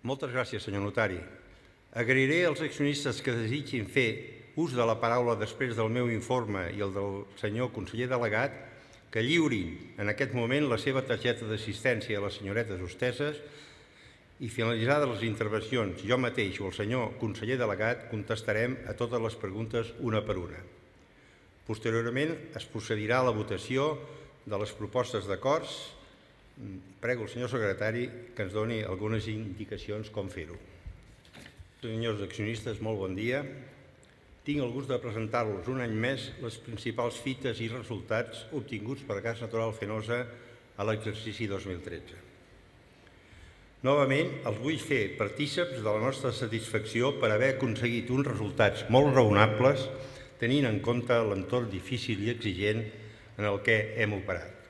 Moltes gràcies, senyor notari. Agrairé als accionistes que desitgin fer ús de la paraula després del meu informe i el del senyor conseller delegat que lliurin en aquest moment la seva targeta d'assistència a les senyoretes hostesses i finalitzades les intervencions, jo mateix o el senyor conseller delegat contestarem a totes les preguntes una per una. Posteriorment es procedirà a la votació de les propostes d'acords. Prego el senyor secretari que ens doni algunes indicacions com fer-ho. Senyors accionistes, molt bon dia. Tinc el gust de presentar-los un any més les principals fites i resultats obtinguts per Gas Natural Fenosa a l'exercici 2013. Novament, els vull fer partíceps de la nostra satisfacció per haver aconseguit uns resultats molt raonables tenint en compte l'entorn difícil i exigent en el que hem operat.